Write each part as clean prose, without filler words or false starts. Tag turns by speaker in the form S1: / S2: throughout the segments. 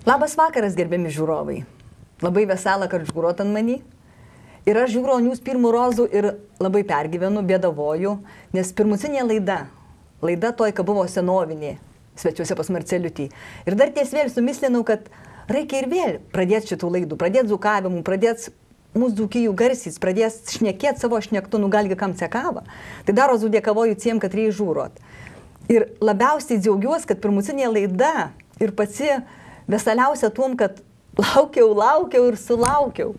S1: Labas vakaras, gerbiami žiūrovai. Labai vesela, kad žiūrot ant manį. Ir aš žiūriu ant jūs pirmų rozų ir labai pergyvenu, bėdavoju, nes pirmucinė laida toj, kad buvo senovinė, svečiuose pas Marceliutį. Ir dar ties vėl sumislinau, kad reikia ir vėl pradėti šitų laidų, pradėti dzukavimų, pradėti mūsų dzūkijų garsys, pradėti šnekėti savo šnektų, galgi kam sekava. Tai daro dėkavoju tiem, kad reikia žiūrot. Ir labiausiai džiaugiuosi, kad pirmucinė laida ir pati vesaliausia tuom, kad laukiau ir sulaukiau.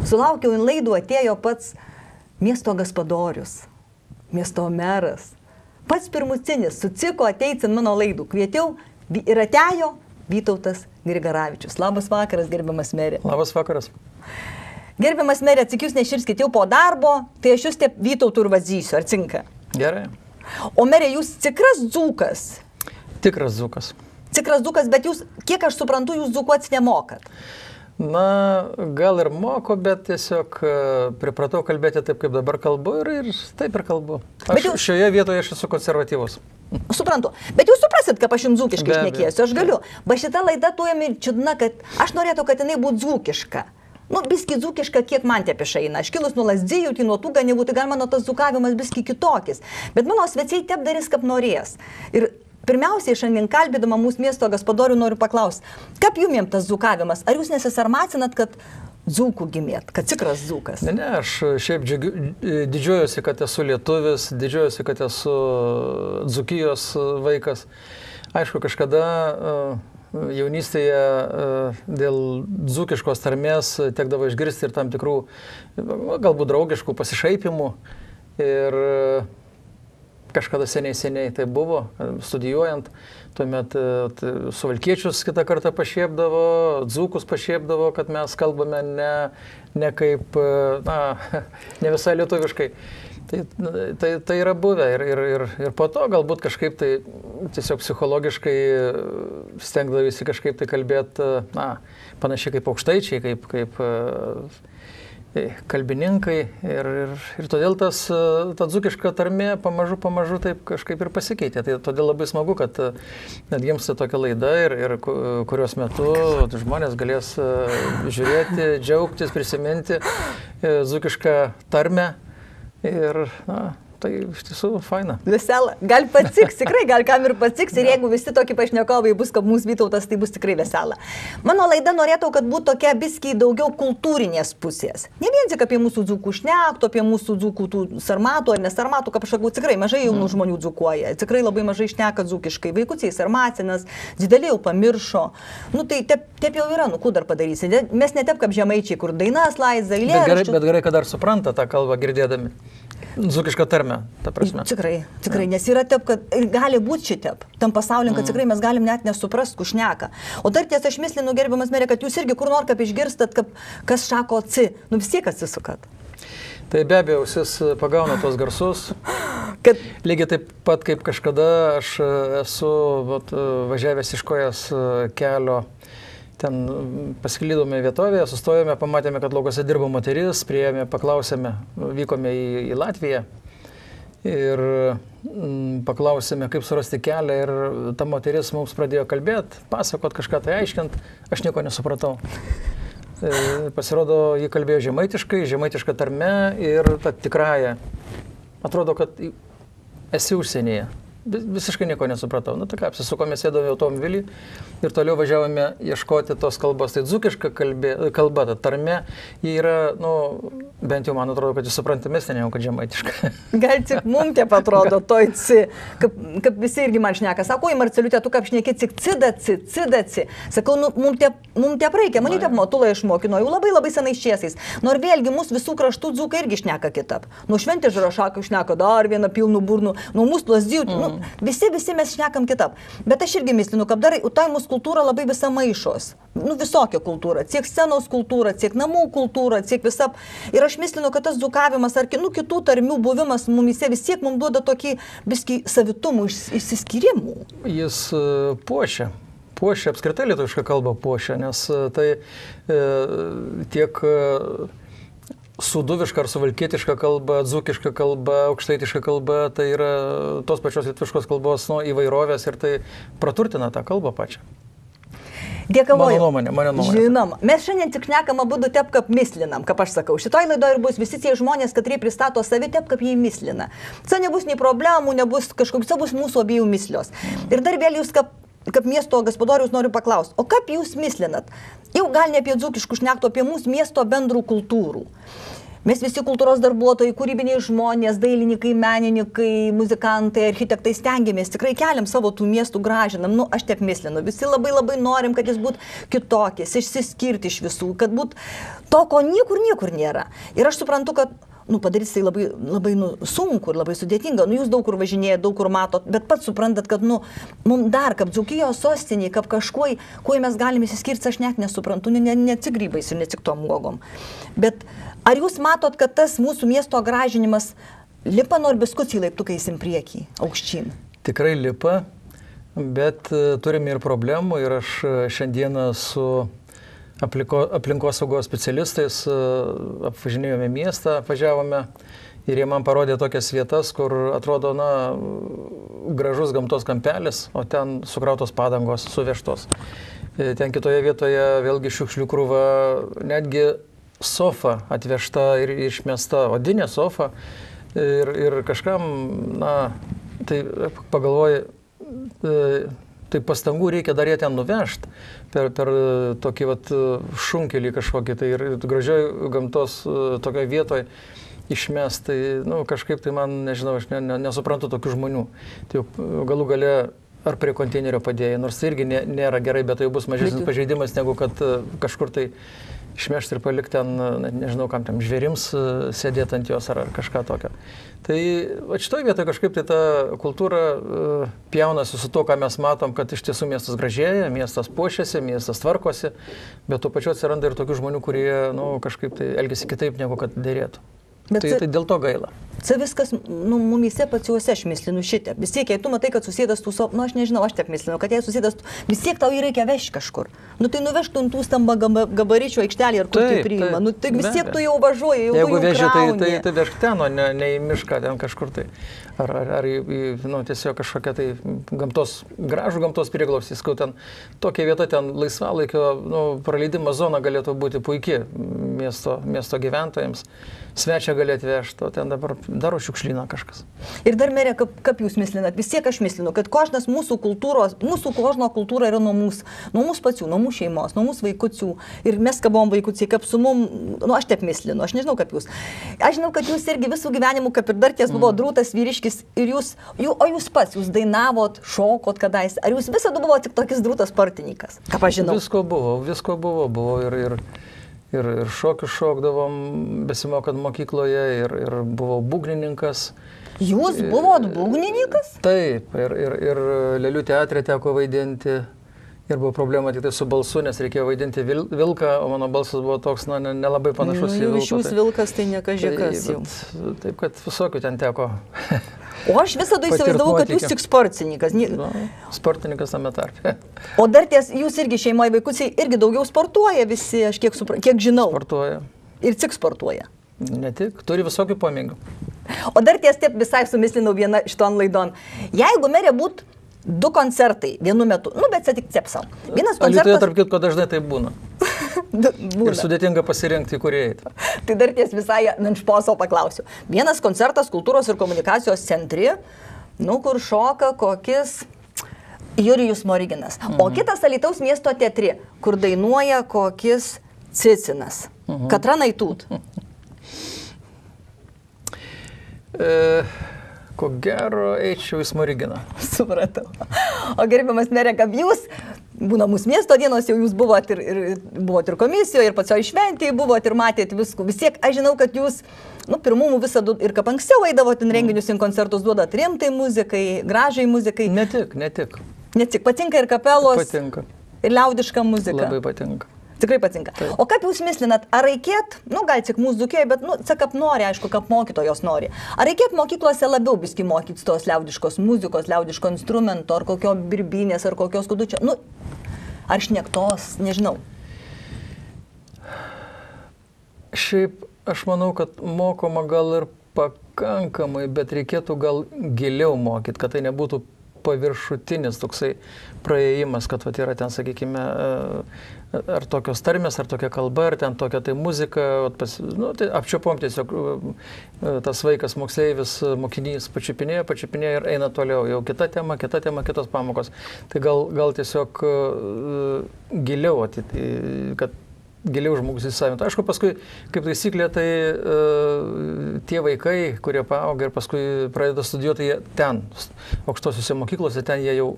S1: Sulaukiau, in laidų atėjo pats miesto gaspadorius, miesto meras. Pats pirmucinis sutiko ateiti ant mano laidų. Kvietiau ir atėjo Vytautas Grigaravičius. Labas vakaras, gerbiamas merė.
S2: Labas vakaras.
S1: Gerbiamas merė, atsikius neširskit jau po darbo, tai aš jūs taip Vytautų ir vadzysiu, ar cinka?
S2: Gerai.
S1: O merė, jūs tikras dzūkas?
S2: Tikras dzūkas.
S1: Tikras dzūkas, bet jūs, kiek aš suprantu, jūs dzūkuotis nemokat.
S2: Na, gal ir moku, bet tiesiog pripratau kalbėti taip, kaip dabar kalbu ir taip ir kalbu. Šioje vietoje aš esu konservatyvus.
S1: Suprantu, bet jūs suprasit, kad aš jums dzūkiškai šnekėsiu, aš galiu. Bet šita laida tuo jam ir čiudna, kad aš norėtų, kad jinai būtų dzūkiška. Nu, biski dzūkiška, kiek man te pišaina. Aš kilus nuo Lazdijų, tai nuo tų ganevų, tai gal mano tas dzūkavimas biski kitokis. Bet mano svečiai tep darys, kaip norės. Ir pirmiausiai, šiandien kalbėdama mūsų miesto gaspadorių noriu paklausti, kaip jums tas dzūkavimas? Ar jūs nesisarmacinat, kad dzūkų gimėt, kad tikras dzūkas?
S2: Ne, aš šiaip didžiuojuosi, kad esu lietuvis, didžiuojuosi, kad esu dzūkijos vaikas. Aišku, kažkada jaunystėje dėl dzūkiškos tarmės tekdavo išgirsti ir tam tikrų, galbūt draugiškų pasišaipimų. Ir kažkada seniai tai buvo, studijuojant, tuomet suvalkiečius kitą kartą pašiepdavo, dzūkus pašiepdavo, kad mes kalbame ne kaip, ne visai lietuviškai. Tai yra buvę ir po to galbūt kažkaip tai tiesiog psichologiškai stengdavisi kažkaip tai kalbėti, panašiai kaip aukštaičiai, kaip kalbininkai ir todėl ta dzūkiška tarmė pamažu taip kažkaip ir pasikeitė. Tai todėl labai smagu, kad net gimsta tokia laida ir kurios metu žmonės galės žiūrėti, džiaugtis, prisiminti dzūkišką tarmę ir tai iš tiesų faina.
S1: Vesela. Gal patiks, tikrai, gal kam ir patiks. Ir jeigu visi tokie pašnekovai bus, kaip mūsų Vytautas, tai bus tikrai vesela. Mano laida norėtų, kad būtų tokia biskiai daugiau kultūrinės pusės. Ne vien tik apie mūsų dzūkų šnektų, apie mūsų dzūkų tų sarmatų ar nesarmatų, kaip aš sakau, tikrai mažai jaunų žmonių dzūkuoja. Tikrai labai mažai šneka dzūkiškai. Vaikučiai sarmacinas, dideliai jau pamiršo. Nu tai taip jau yra, nu kur dar padarysi. Mes ne taip kaip žemaičiai, kur dainas laiza, eilėraščius.
S2: Bet gerai, kad dar supranta tą kalbą girdėdami. Dzūkišką tarmę, ta prasme.
S1: Tikrai, nes yra taip, kad gali būti šitep. Tam pasaulyje, kad tikrai mes galim net nesuprast, kur šneka. O dar ties aš mislinu, gerbiamas merė, kad jūs irgi kur nors kaip išgirstat, kas šako ci, nu vis tiek atsisukat.
S2: Tai be abejo, ausis pagauna tos garsus. Lygiai taip pat kaip kažkada aš esu važiavęs iš Kojos kelio. Ten pasiklydome vietovėje, sustojome, pamatėme, kad laukose dirbo moteris, priėjome, paklausėme, vykome į Latviją ir paklausėme, kaip surasti kelią ir ta moteris mums pradėjo kalbėti, pasakot kažką tai aiškint, aš nieko nesupratau. Pasirodo, ji kalbėjo žemaitiška tarme ir ta tikrąja. Atrodo, kad esi užsienyje. Visiškai nieko nesupratau. Na tai ką, apsisukome, sėdome automobilį ir toliau važiavome ieškoti tos kalbos. Tai dzūkiška kalba, ta tarmė, ji yra, bent jau man atrodo, kad jūs suprantamesnė, negu kad žemaitiška.
S1: Gal tik mums taip atrodo, toj ci, kaip visi irgi man šneka. Sako, į Marceliutę, tu kaip šneki, tik cidaci. Sakau, mums taip reikia, man taip motulą išmokino, jau labai senai šiesiais. Nors vėlgi mūsų visų kraštų dzūkai irgi šneka kitap. Nu šventė Žarašakai šneka dar vieną pilnų burnų, nu mūsų Lazdijų, visi mes šnekam kitap. Bet aš irgi mislinu, kad dar tai mūsų kultūra labai visa maišos. Nu visokia kultūra, tiek scenos kultūra, tiek namų kultūra, tiek visap. Ir aš mislinu, kad tas dzūkavimas ar kitų tarmių buvimas mumise vis tiek mums duoda tokį biskį savitumų išsiskyrimų.
S2: Jis puošia apskritai lietuvišką kalbą puošia, nes tai tiek suduviška ar suvalkietiška kalba, dzūkiška kalba, aukštaitiška kalba, tai yra tos pačios lietuviškos kalbos įvairovės ir tai praturtina tą kalbą pačią.
S1: Dėkavoju.
S2: Mano nuomonė.
S1: Žinoma, mes šiandien tik šnekam abudu taip, kaip mislinam, kaip aš sakau. Šitoj laidoje ir bus visi tie žmonės, katrie pristato savi taip, kaip jie mislina. Tai nebus nei problemų, nebus kažkokios, tai bus mūsų abiejų mislios. Ir dar vėl jūs kaip miesto gospodorius noriu paklausti, o kaip jūs mislinat? Jau gal ne apie dzūkiškų šnektų, apie mūsų miesto bendrų kultūrų. Mes visi kultūros darbuotojai, kūrybiniai žmonės, dailininkai, menininkai, muzikantai, architektai stengiamės, tikrai keliam savo tų miestų gražinam. Nu, aš taip mislinu, visi labai norim, kad jis būtų kitokis, išsiskirti iš visų, kad būtų to, ko niekur nėra. Ir aš suprantu, kad padaryti tai labai sunku ir labai sudėtinga. Jūs daug kur važinėjate, daug kur matot, bet pats suprantat, kad mums dar, kaip Dzūkijos sostiniai, kaip kažkuo, kuo mes galime įsiskirti, aš net nesuprantu, ne tik grybais ir ne tik tom uogom. Bet ar jūs matot, kad tas mūsų miesto gražinimas lipa nors biskutį laiptukais į priekį, aukštyn?
S2: Tikrai lipa, bet turime ir problemų ir aš šiandieną su aplinkosaugos specialistais apvažinėjome miestą, apvažiavome ir jie man parodė tokias vietas, kur atrodo, gražus gamtos kampelis, o ten sukrautos padangos, suvežtos. Ten kitoje vietoje vėlgi šiukšlių krūva, netgi sofa atvežta ir išmesta, odinė sofa ir kažkam, tai pagalvoju, tai pastangų reikia dar ją ten nuvežti per tokį šunkelį kažkokį, tai ir gražioj gamtos tokioje vietoje išmest, tai kažkaip tai man, nežinau, aš nesuprantu tokių žmonių. Tai galų gale ar prie konteinerio padėjai, nors tai irgi nėra gerai, bet tai bus mažesnis pažeidimas, negu kad kažkur tai išmešti ir palikti ten, nežinau, kam tam žvėrims sėdėti ant jos ar kažką tokio. Tai šitoje vietoje kažkaip tai ta kultūra pjaunasi su to, ką mes matom, kad iš tiesų miestas gražėja, miestas puošiasi, miestas tvarkosi, bet tuo pačiu atsiranda ir tokių žmonių, kurie kažkaip tai elgesi kitaip, negu kad dėrėtų. Tai dėl to gaila.
S1: Tai viskas, mumise pačiuose aš mislinu šitą. Vis tiek, jei tu matai, kad susėdas tų savo, aš nežinau, aš taip mislinu, kad jei susėdas, vis tiek tau jį reikia vežti kažkur. Tai nuvežtų tų stambą gabaričių aikštelį ar kur tai priima. Tai vis tiek tu jau važiuoji, jau
S2: jeigu
S1: veži,
S2: tai vežk ten, o ne į mišką, ten kažkur tai. Ar tiesiog kažkokia tai gražų gamtos prieglobstis, kad ten tokia vieta, ten laisvalaikio praleidimo zona galėtų būti puikiai miesto gyventojams. Svečia gali atvežti, o ten dabar daro šiukšlyną kažkas.
S1: Ir dar, merė, kaip jūs mislinat? Vis tiek aš mislinu, kad kožnas mūsų kožno kultūra yra nuo mūsų pačių, nuo mūsų šeimos, nuo mūsų vaikučių. Ir mes kabom vaikučiai, kaip su mum, aš taip mislinu, aš nežinau, kaip jūs. Aš žinau, kad jūs irgi visų gyvenimų, kaip ir dar ties buvo drūtas vyriškis, ir jūs dainavot, šokot kadais. Ar jūs visada buvo tik tokis drūtas sportininkas? Ką aš žinau?
S2: Visko buvo ir šokius šokdavom, besimokant mokykloje, ir buvau būgnininkas.
S1: Jūs buvot būgnininkas?
S2: Taip, ir Lėlių teatre teko vaidinti. Ir buvo problema tik tai su balsu, nes reikėjo vaidinti vilką, o mano balsas buvo toks, nelabai panašus į vilką.
S1: Iš jūs vilkas, tai ne kažkas jau.
S2: Taip, kad visokių ten teko.
S1: O aš visada įsivaizdavau, kad jūs tik sportininkas.
S2: Sportininkas tame tarpe.
S1: O dar jūs irgi šeimoje vaikusiai irgi daugiau sportuoja visi, aš kiek žinau.
S2: Sportuoja.
S1: Ir tik sportuoja.
S2: Ne tik, turi visokių pomėgių.
S1: O dar taip visai sumislinau vieną šiton laidon. Jeigu merė būtų 2 koncertai vienu metu, bet čia tik cepsau. Vienas koncertas...
S2: Alytuje, tarp kitko, dažnai tai būna. Ir sudėtinga pasirinkti, kur eiti.
S1: Tai dar visai nanšposo paklausiu. Vienas koncertas kultūros ir komunikacijos centre, kur šoka kokis Jurijus Smoriginas. O kitas Alytaus miesto teatre, kur dainuoja kokis Cicinas. Katra Naitūt.
S2: Ko gero, eičiau į Smoriginą.
S1: Supratau. O gerbiamas merė, kaip jūs, būna mūsų miesto dienos, jau jūs buvot ir komisijoje, ir pačioj šventėje buvot, ir matėt viskų. Vis tiek, aš žinau, kad jūs, pirmumų visada ir kaip anksčiau eidavot in renginius, in koncertus duodat rimtai muzikai, gražiai muzikai.
S2: Ne tik.
S1: Ne tik, patinka ir kapelos.
S2: Patinka.
S1: Ir liaudiška muzika.
S2: Labai patinka.
S1: Tikrai patinka. Taip. O kaip jūs mislinat, ar reikėt, gal tik mūsų Dzūkijoje, bet, kaip nori, aišku, kaip mokytojos nori. Ar reikėt mokyklose labiau biskį mokyti tos liaudiškos muzikos, liaudiško instrumento, ar kokio birbinės, ar kokios kudučio, ar šnektos, nežinau.
S2: Šiaip, aš manau, kad mokoma gal ir pakankamai, bet reikėtų gal giliau mokyti, kad tai nebūtų paviršutinis toksai praėjimas, kad vat, yra ten, sakykime, ar tokios tarmės, ar tokia kalba, ar ten tokia tai muzika, tai apčiopom tiesiog tas vaikas, moksleivis, mokinys pačiupinėja ir eina toliau, jau kita tema, kitos pamokos. Tai gal tiesiog giliau, kad giliau žmogus įsisavintų. Aišku, paskui, kaip taisyklė, tai tie vaikai, kurie paauga ir paskui pradeda studijuoti, jie ten, aukštosiuose mokyklose, ten jie jau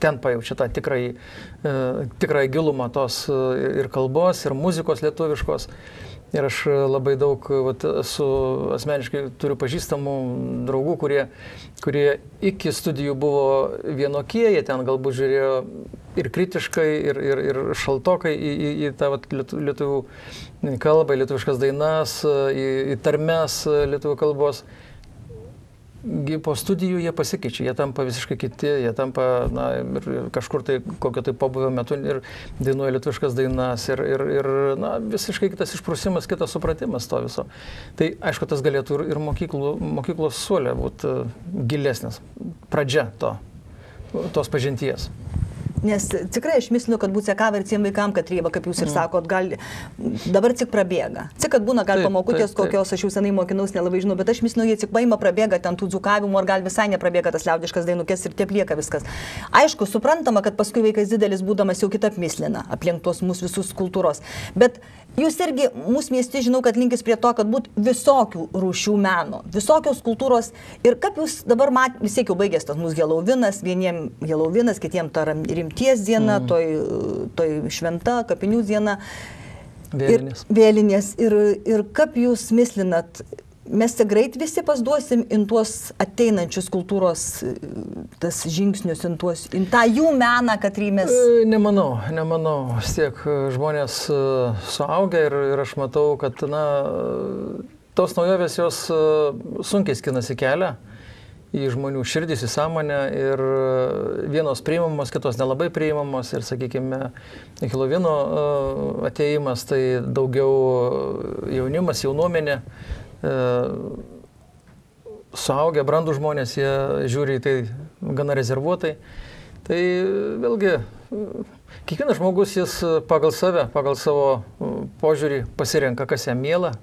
S2: ten pajaučia tą tikrąjį gilumą tos ir kalbos, ir muzikos lietuviškos. Ir aš labai daug asmeniškai turiu pažįstamų draugų, kurie iki studijų buvo vienokie, jie ten galbūt žiūrėjo ir kritiškai, ir šaltokai į tą lietuvių kalbą, į lietuviškas dainas, į tarmes lietuvių kalbos. Po studijų jie pasikeičia, jie tampa visiškai kiti, jie tampa ir kažkur tai kokio tai pabuvio metu ir dainuoja lietuviškas dainas ir visiškai kitas išprusimas, kitas supratimas to viso. Tai aišku, tas galėtų ir mokyklos suolė būti gilesnis, pradžia tos pažinties.
S1: Nes tikrai aš mislinu, kad būtų sekava ir tiem vaikam, kad rieba, kaip jūs ir sakot, dabar tik prabėga. Tik, kad būna gal pamokutės kokios, aš jau senai mokinaus, nelabai žinau, bet aš mislinu, jie tik paima prabėga ten tų dzukavimų, ar gal visai neprabėga tas liaudiškas dainukės ir taip lieka viskas. Aišku, suprantama, kad paskui vaikas didelis būdamas jau kitap mislina aplink tos mūsų visus kultūros. Bet jūs irgi mūsų mieste, žinau, kad linkis prie to, kad būtų visokių rūšių meno, visokios kultūros. Ir kaip jūs dabar vis tiek jau baigęs tas mūsų Helovinas, vieniem Helovinas, kitiem ta rimties diena, toj šventa, kapinių diena. Vėlinės. Ir kaip jūs mislinat, mes tik greit visi pasduosim in tuos ateinančius kultūros tas žingsnius, in tą jų meną, kad rymės?
S2: Nemanau. Vis tiek žmonės suaugę ir aš matau, kad tos naujovės jos sunkiai skinasi kelią į žmonių širdis, į sąmonę ir vienos priimamos, kitos nelabai priimamos ir, sakykime, Helovino atėjimas, tai daugiau jaunimas, jaunuomenė, suaugę, brandų žmonės, jie žiūri į tai gana rezervuotai. Tai vėlgi, kiekvienas žmogus jis pagal save, pagal savo požiūrį pasirenka, kas jam miela,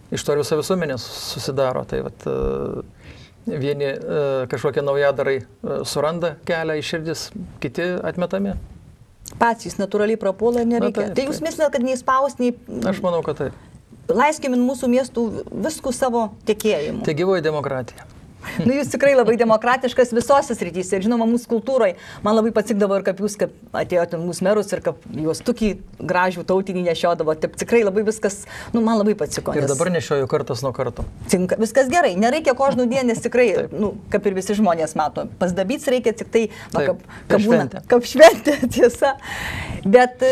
S2: iš to ir visa visuomenė susidaro. Tai vieni kažkokie naujadarai suranda kelią į širdis, kiti atmetami.
S1: Patys natūraliai prapuola ir nereikia. Tai jūs mislinat, kad neįspaus, nei...
S2: Aš manau, kad taip.
S1: Laiskim mūsų miestų viskų savo tekėjimu.
S2: Tai gyvoji demokratija.
S1: Jūs tikrai labai demokratiškas visose srityse. Ir žinoma, mūsų kultūrai man labai patikdavo ir kaip jūs atėjote mūsų merus ir kaip juos tukį gražių tautinį nešiodavo. Taip tikrai labai viskas, man labai patiko.
S2: Ir dabar nešioju kartas nuo karto.
S1: Tinka, viskas gerai, nereikia kožnų dienės tikrai, kaip ir visi žmonės mato. Pasdabyts reikia tik tai, kaip šventė, tiesa. Bet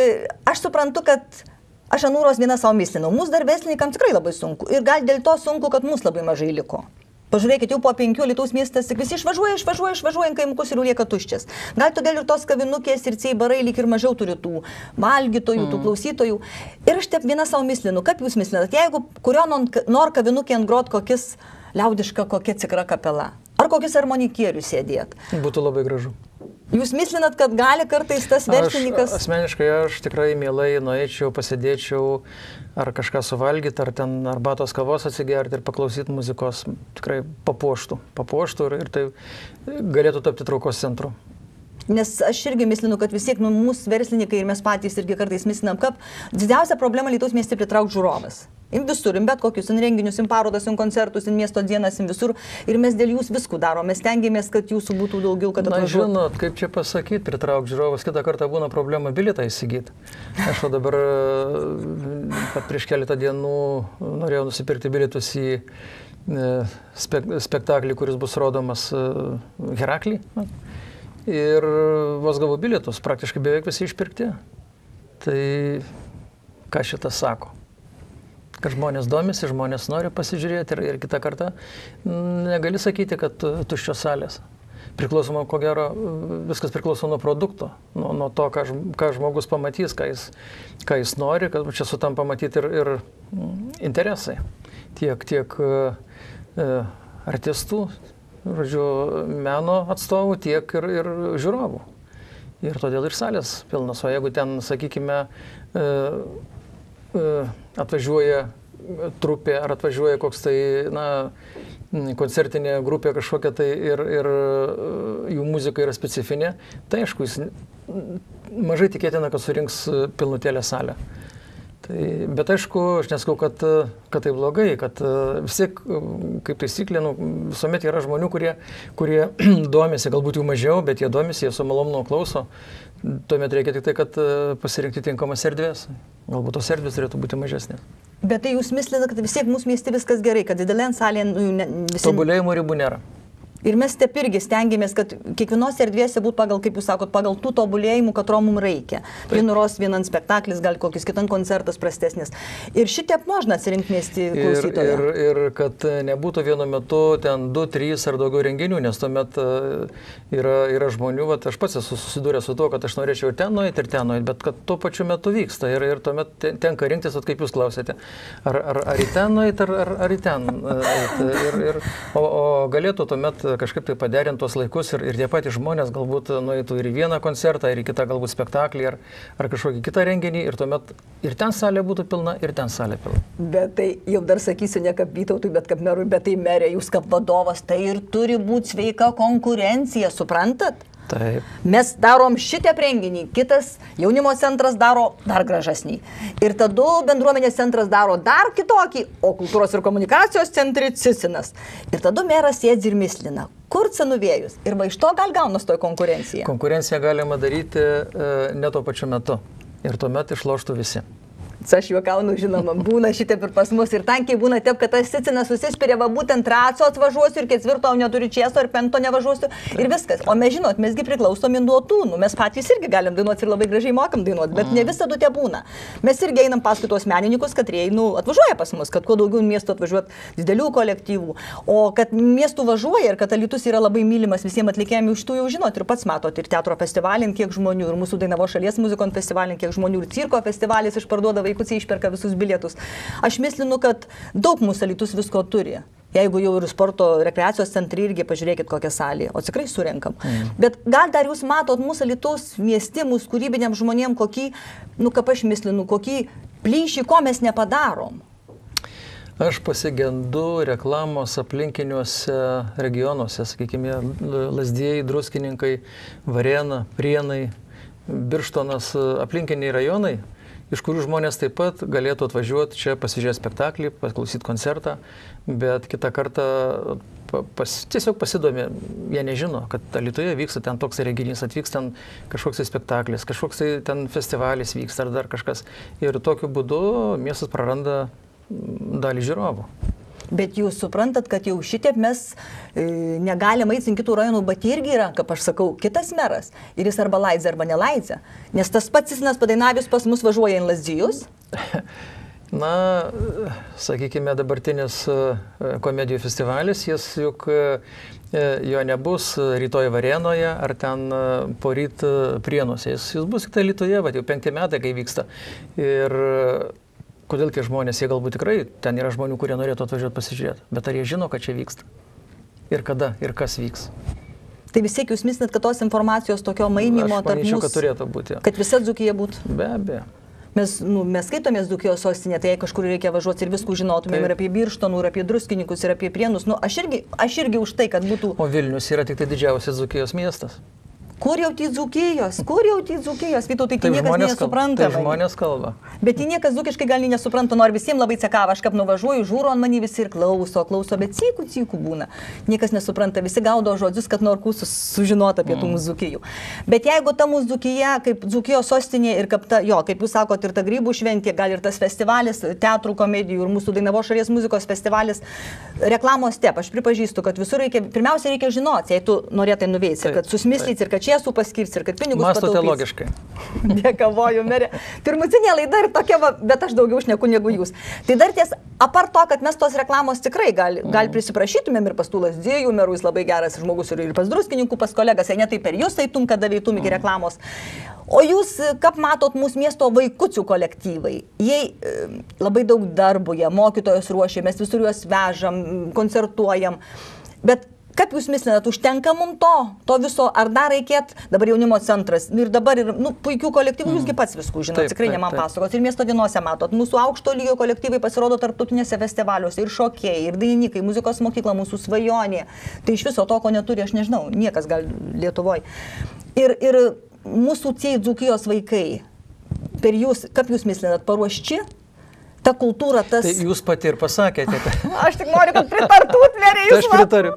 S1: aš suprantu, kad aš anūros vieną savo mislinau. Mūsų dar verslininkam tikrai labai sunku. Ir gal dėl to sunku, kad mūsų labai mažai liko. Pažiūrėkit, jau po 5 Lietuvos miestas, tik visi išvažiuoja į kaimukus ir lieka tuščias. Gal todėl ir tos kavinukės ir ceibarai lyg ir mažiau turi tų valgytojų, tų klausytojų. Ir aš taip vieną savo mislinu, kaip jūs mislinat, jeigu kurio nor kavinukė ant grot kokis liaudiška, kokia tikra kapela, ar kokis armonikierius sėdėt.
S2: Būtų labai gražu.
S1: Jūs mislinat, kad gali kartais tas verslininkas...
S2: Asmeniškai aš tikrai mielai nueičiau, pasėdėčiau, ar kažką suvalgyti, ar ten arbatos kavos atsigerti ir paklausyti muzikos, tikrai papuoštų ir tai galėtų tapti traukos centru.
S1: Nes aš irgi mislinu, kad vis tiek mūsų verslininkai ir mes patys irgi kartais mislinam, kad didžiausia problema Lietuvos mieste pritraukti žiūrovas. Visur, bet kokius renginius, parodas, koncertus, miesto dienas, visur. Ir mes dėl jūs viskų darom. Mes tengiamės, kad jūsų būtų daugiau, kad atvažiuotų.
S2: Žinot, kaip čia pasakyti, pritraukti žiūrovas, kitą kartą būna problema bilietą įsigyti. Aš dabar prieš keletą dienų norėjau nusipirkti bilietus į spektaklį, kuris bus rodomas Heraklį. Ir vos gavau bilietus, praktiškai beveik visi išpirkti. Tai ką šitas sako? Kad žmonės domisi, žmonės nori pasižiūrėti ir kitą kartą negali sakyti, kad tuščios salės. Priklausoma, ko gero, viskas priklauso nuo produkto, nuo to, ką žmogus pamatys, ką jis nori, kad čia sutampa matyti ir interesai. Tiek artistų, žodžiu, meno atstovų, tiek ir žiūrovų. Ir todėl ir salės pilnas. O jeigu ten, sakykime, atvažiuoja trupė ar atvažiuoja koks tai, koncertinė grupė kažkokia tai ir jų muzika yra specifinė, tai aišku, jis mažai tikėtina, kad surinks pilnutėlę salę. Bet aišku, aš nesakau, kad tai blogai, kad vis tiek, kaip taisyklė, visuomet yra žmonių, kurie domisi, galbūt jų mažiau, bet jie domisi, jie su malonumu klauso. Tuomet reikia tik tai, kad pasirinkti tinkamas erdvės. Galbūt tos erdvės turėtų būti mažesnės.
S1: Bet tai jūs mislinate, kad vis tiek mūsų mieste viskas gerai, kad didelė salė visi...
S2: Tobulėjimo ribų nėra.
S1: Ir mes taip irgi stengiamės, kad kiekvienos erdvėse būtų pagal, kaip jūs sakot, pagal tų tobulėjimų, katro mums reikia. Vienan spektaklis, gal kokis kitan koncertas prastesnis. Ir šitaip možna atsirinkti miestį klausytoją.
S2: Ir kad nebūtų vienu metu ten 2, 3 ar daugiau renginių, nes tuomet yra žmonių, aš pats esu susidūręs su tuo, kad aš norėčiau ir ten nueiti, bet kad tuo pačiu metu vyksta. Ir tuomet tenka rinktis, kaip jūs klausėte, ar į ten nueiti, ar į ten eiti. O galėtų tuomet kažkaip tai paderinti tuos laikus ir tie patys žmonės galbūt nueitų ir į vieną koncertą, ir į kitą galbūt spektaklį, ar kažkokį kitą renginį, ir tuomet ir ten salė būtų pilna, ir ten salė pilna.
S1: Bet tai jau dar sakysiu ne kaip Vytautui, bet kaip merui, bet tai merė, jūs kaip vadovas, tai ir turi būti sveika konkurencija, suprantat?
S2: Taip.
S1: Mes darom šitą renginį, kitas jaunimo centras daro dar gražesnį. Ir tada bendruomenės centras daro dar kitokį, o kultūros ir komunikacijos centri Cicinas. Ir tada meras sėdzi ir mislina, kur cenuvėjus. Ir va iš to gal gaunas toj konkurencija.
S2: Konkurenciją galima daryti ne tuo pačiu metu. Ir tuomet išloštų visi.
S1: Aš juokaunu, žinoma, būna šitaip ir pas mus. Ir tankiai būna taip, kad tas Cicinas susispiria, va būtent traco atvažiuosiu ir ketvirto neturiu čiesto ir penkto nevažiuosiu ir viskas. O mes žinot, mesgi priklausomi nuo tų, mes patys irgi galim dainuoti ir labai gražiai mokam dainuoti, bet ne visada tie būna. Mes irgi einam paskui tuos menininkus, kad jie atvažiuoja pas mus, kad kuo daugiau miestų atvažiuot didelių kolektyvų. O kad miestų važiuoja ir kad Alytus yra labai mylimas visiems atlikėjams, iš tų jau žinot ir pats matot, ir teatro festivalin kiek žmonių, ir mūsų Dainavos šalies muzikos festivalin kiek žmonių, ir cirko festivalis išparduoda vaikučiai išperka visus bilietus. Aš mislinu, kad daug mūsų Alytus visko turi. Jeigu jau ir sporto rekreacijos centrai irgi pažiūrėkit kokią salį, o tikrai surenkam. Bet gal dar jūs matot mūsų Alytus mieste, mūsų kūrybiniam žmonėm, kokį, kaip aš mislinu, kokį plyšį, ko mes nepadarom.
S2: Aš pasigendu reklamos aplinkiniuose regionuose, sakykime, Lazdijai, Druskininkai, Varėna, Prienai, Birštonas, aplinkiniai rajonai, iš kurių žmonės taip pat galėtų atvažiuoti čia pasižiūrėti spektaklį, paklausyti koncertą, bet kitą kartą tiesiog pasidomi, jie nežino, kad Alytuje vyksta ten toks renginys, atvyks ten kažkoks spektaklis, kažkoks ten festivalis vyksta ar dar kažkas. Ir tokiu būdu miestas praranda dalį žiūrovų.
S1: Bet jūs suprantat, kad jau šitiep mes negalim eiti kitų rajonų, bet irgi yra, kaip aš sakau, kitas meras. Ir jis arba laidžia, arba nelaidžia. Nes tas pats Cicinas Padainavius pas mus važiuoja į Lazdijus.
S2: Sakykime, dabartinis komedijų festivalis, jis juk jo nebus rytoj Varėnoje ar ten poryt Prienuose. Jis bus tik Alytuje, jau 5 metai, kai vyksta. Ir kodėl tie žmonės, jie galbūt tikrai, ten yra žmonių, kurie norėtų atvažiuoti pasižiūrėti, bet ar jie žino, kad čia vyksta? Ir kada, ir kas vyks?
S1: Tai vis tiek jūs mislinat, kad tos informacijos tokio mainimo tarp mūsų,
S2: kad turėtų būti.
S1: Kad visa Dzūkija būtų?
S2: Be abejo.
S1: Mes skaitomės Dzūkijos sostinė, tai jei kažkur reikia važiuoti ir viskų žinotumėm ir apie Birštonų, ir apie Druskininkus, ir apie Prienus. Aš irgi už tai, kad būtų...
S2: O Vilnius yra tik tai didžiausias Dzūkijos miestas.
S1: Kur jau tie Dzūkijos? Vytautai, tai niekas nesupranta.
S2: Tai žmonės kalba.
S1: Bet jie niekas dzūkiškai gal nesupranta, nors visiems labai cekava, aš kaip nuvažiuoju, žiūro ant manį visi ir klauso, bet cykų būna. Niekas nesupranta, visi gaudo žodžius, kad nori sužinoti apie tų mūsų Dzūkijų. Bet jeigu ta mūsų Dzūkija, kaip Dzūkijos sostinė ir kaip jūs sakot, ir ta grybų šventė, gal ir tas festivalis, teatrų komedijų ir mūsų Dainavos šalies muzikos festivalis, reklamos step, aš pripažįstu, kad visur pirmiausia reikia žinoti, jei tu norėtai nuveiksi, kad susmislyti ir kad čiesų paskirs ir kad pinigus pataupys.
S2: Mąstote logiškai.
S1: Dėkavoju, merė. Pirmutinė laida ir tokia, bet aš daugiau šneku negu jūs. Tai dar ties, apart to, kad mes tos reklamos tikrai gal prisiprašytumėm ir pas tų Lazdijų merų, jis labai geras žmogus ir pas Druskininkų, pas kolegas, jei ne tai per jūs eitum, kada veitum iki reklamos. O jūs, kaip matot, mūsų miesto vaikučių kolektyvai, jie labai daug darbų, jie mokytojus ruošia, mes visur juos vežam, koncertuojam, bet Kaip jūs mislinat, užtenka mums to viso, ar dar reikėt, dabar jaunimo centras ir dabar ir puikių kolektyvų, jūsgi pats viskų žinot, tikrai ne man pasakos, ir miesto dienose matot, mūsų aukšto lygio kolektyvai pasirodo tarptautinėse festivaliuose, ir šokėjai, ir dainininkai, muzikos mokykla, mūsų svajonė, tai iš viso to, ko neturi, aš nežinau, niekas gal Lietuvoje. Ir mūsų tie Dzūkijos vaikai, per jūs, kaip jūs mislinat, paruošči? Ta kultūra, tas...
S2: Tai jūs pati ir pasakėte.
S1: Aš tik noriu, kad pritartut, Nerija, jūs.
S2: Aš pritariu.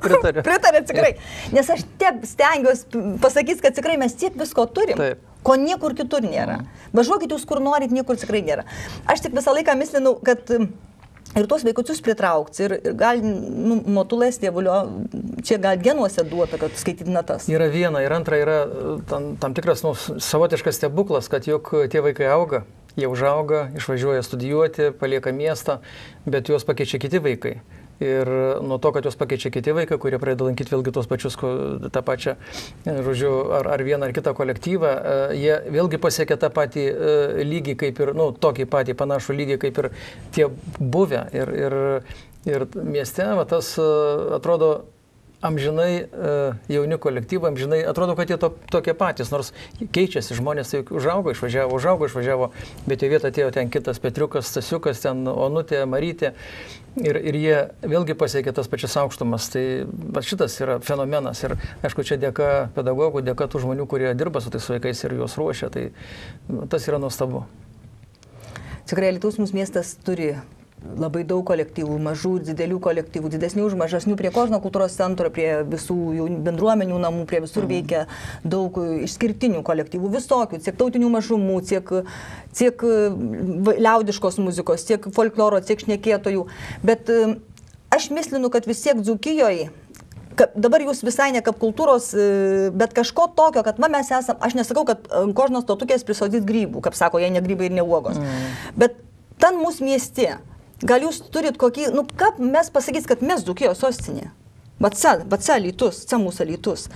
S1: Pritarė tikrai. Nes aš tiek stengiuosi pasakyti, kad tikrai mes tiek visko turim, ko niekur kitur nėra. Važiuokit jūs kur norit, niekur tikrai nėra. Aš tik visą laiką mislinau, kad ir tuos vaikučius pritraukti, ir gal motulės tėvulio, čia gal genuose duota, kad skaityti natas.
S2: Yra viena, ir antra yra tam tikras savotiškas stebuklas, kad juk tie vaikai auga. Jie užauga, išvažiuoja studijuoti, palieka miestą, bet juos pakeičia kiti vaikai. Ir nuo to, kad juos pakeičia kiti vaikai, kurie pradeda lankyti vėlgi tos pačius, tą pačią, žodžiu, ar vieną ar kitą kolektyvą, jie vėlgi pasiekia tą patį lygį, kaip ir, tokį patį panašų lygį, kaip ir tie buvę. Ir mieste tas atrodo amžinai jauni kolektyvai, amžinai atrodo, kad jie tokie patys, nors keičiasi žmonės, tai užaugo, išvažiavo, bet į vietą atėjo ten kitas Petriukas, Stasiukas, ten Onutė, Marytė ir jie vėlgi pasiekė tas pačias aukštumas. Tai šitas yra fenomenas ir aišku, čia dėka pedagogų, dėka tų žmonių, kurie dirba su tais vaikais ir juos ruošia, tai tas yra nuostabu.
S1: Tikrai Alytaus mūsų miestas turi labai daug kolektyvų, mažų, didelių kolektyvų, didesnių už mažesnių, prie Kožno kultūros centro, prie visų bendruomenių namų, prie visur veikia daug išskirtinių kolektyvų, visokių, tiek tautinių mažumų, tiek liaudiškos muzikos, tiek folkloro, tiek šnekėtojų. Bet aš mislinu, kad vis tiek Dzūkijoje, dabar jūs visai ne kaip kultūros, bet kažko tokio, kad mes esam, aš nesakau, kad Kožnos tautukės prisodys grybų, kaip sako, jei ne grybai ir ne uogos, bet ten mūsų mieste. Gal jūs turit kokį, kaip mes pasakys, kad mes Dzūkijos sostinė? Bet Alytus, mūsų Alytus.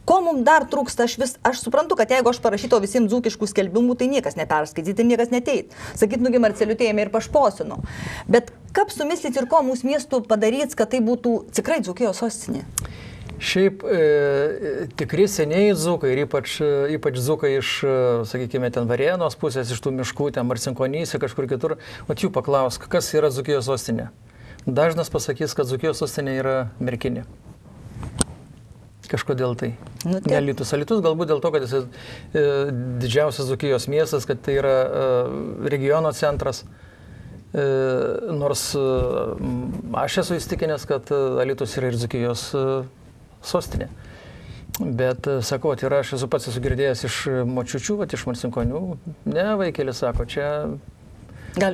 S1: Ko mums dar trūksta, aš suprantu, kad jeigu aš parašyto visiems dzūkiškų skelbimų, tai niekas neperskaityti ir niekas neteit. Sakyt, Marceliutė ėmė ir pašposino. Bet kaip sumislit ir ko mūsų miestų padaryt, kad tai būtų tikrai Dzūkijos sostinė?
S2: Šiaip tikri seniai dzūkai ir ypač dzūkai iš, sakykime, ten Varėnos pusės, iš tų miškų, ten Marcinkonyse, kažkur kitur, o jų paklausk, kas yra Dzūkijos sostinė? Dažnas pasakys, kad Dzūkijos sostinė yra Merkinė. Kažkodėl tai. Ne Alytus. Alytus galbūt dėl to, kad jis didžiausias Dzūkijos miestas, kad tai yra regiono centras. Nors aš esu įstikinęs, kad Alytus yra ir Dzūkijos sostinė. Bet, sakau, ir aš pats esu girdėjęs iš močiučių, iš Marcinkonių. Ne, vaikėlis sako, čia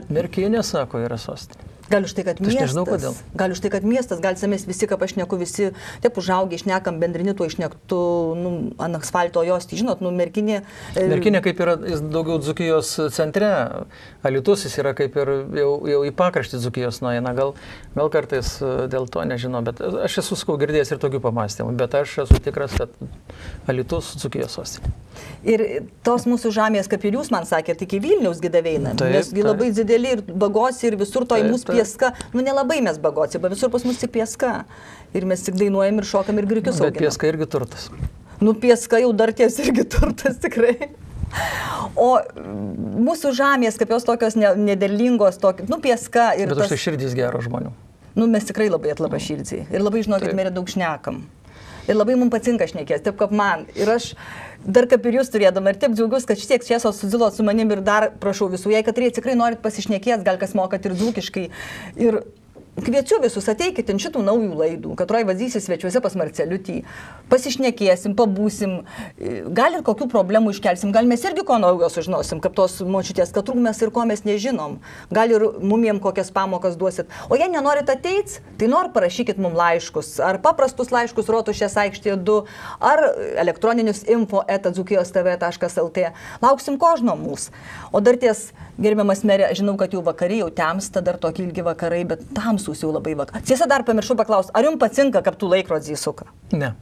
S2: Merkinė, sako, yra sostinė.
S1: Gal už tai, kad miestas.
S2: Aš nežinau, kodėl.
S1: Gal už tai, kad miestas, gal mes visi, kaip aš šneku, visi, taip užaugę, išnekam bendrini, tuo išnektų ant asfalto jos, tai žinot, Merkinė.
S2: Merkinė kaip yra daugiau Dzūkijos centre, Alytus jis yra kaip ir jau į pakraštį Dzūkijos nueina, gal kartais dėl to nežinau, bet aš esu girdėjęs ir tokių pamastymų, bet aš esu tikras, kad Alytus Dzūkijos sostinė.
S1: Ir tos mūsų žemės, kaip ir jūs man sakėte, iki Vilniaus gidaveina, nesgi labai dideli ir bagosi ir visur to į mūsų pieska, nelabai mes bagosi, bet visur pas mus tik pieska. Ir mes tik dainuojam ir šokam ir grikius auginam.
S2: Bet pieska irgi turtas.
S1: Pieska jau dar ties irgi turtas tikrai. O mūsų žemės, kaip jos tokios nederlingos, pieska ir
S2: bet už tai širdys gero žmonių.
S1: Mes tikrai labai atlaba širdžiai. Ir labai, žinokit, mes daug šnekam. Ir labai mums patinka šnekės, taip kaip man. Ir aš dar kaip ir jūs turėdama, ir taip džiaugiuosi, kad šitiek šviesos suzilot su manim ir dar prašau visų, jei kad tikrai norit pasišnekės, gal kas mokat ir dzūkiškai. Ir kviečiu visus, ateikit ant šitų naujų laidų, kad vazysis svečiuose pas Marceliutį, pasišnekėsim, pabūsim, gal ir kokių problemų iškelsim, gal mes irgi ko naujo sužinosim, kaip tos močiutės, kad trūkmės ir ko mes nežinom, gal ir mumiem kokias pamokas duosit. O jei nenorit ateit, tai parašykit mum laiškus, ar paprastus laiškus Rotušės aikštėje 2, ar elektroninius info@dzukijostv.lt. Lauksim Kožno mūsų. O dar ties, gerbiamas merė, žinau, kad jau vakariai, jau temsta, dar tokie ilgi vakarai, bet tamsūs jau labai vakarai. Tiesa, dar pamiršau paklausti, ar jums patinka, kaip tų laikrodžiai suka?
S2: Ne.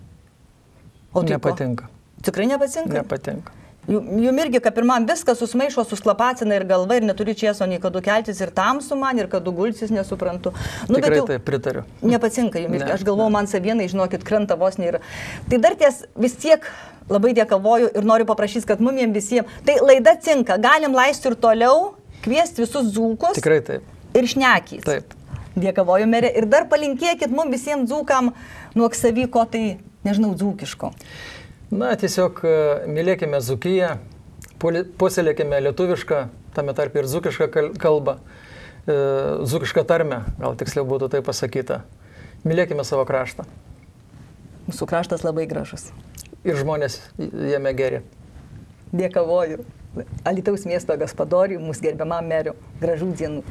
S1: O tai
S2: nepatinka.
S1: Tikrai nepatinka?
S2: Nepatinka.
S1: Jum irgi, kad pirmam viskas susmaišo, susklapacina ir galva, ir neturi čieso nei kadu keltis, ir tamsu man, ir kadu gulsis, nesuprantu. Nu,
S2: tikrai taip, pritariu.
S1: Nepatinka jums irgi. Aš galvoju, man savienai, žinokit, krenta vos nėra. Tai dar ties vis tiek labai dėkavoju ir noriu paprašyti, kad mumiem visiems. Tai laida cinka, galim leisti ir toliau, kviesti visus dzūkus.
S2: Tikrai taip.
S1: Ir šnekys.
S2: Taip.
S1: Dėkavoju, merė. Ir dar palinkėkit mums visiems dzūkam nuo savyko, tai nežinau, dzūkiško.
S2: Na, tiesiog mylėkime Dzūkiją, puoselėkime lietuvišką, tame tarp ir dzūkišką kalbą, dzūkišką tarmę, gal tiksliau būtų tai pasakyta. Mylėkime savo kraštą.
S1: Mūsų kraštas labai gražus.
S2: Ir žmonės jame geri.
S1: Dėkavoju. Alytaus miesto gaspadoriui, mūsų gerbiamam meriu. Gražių dienų.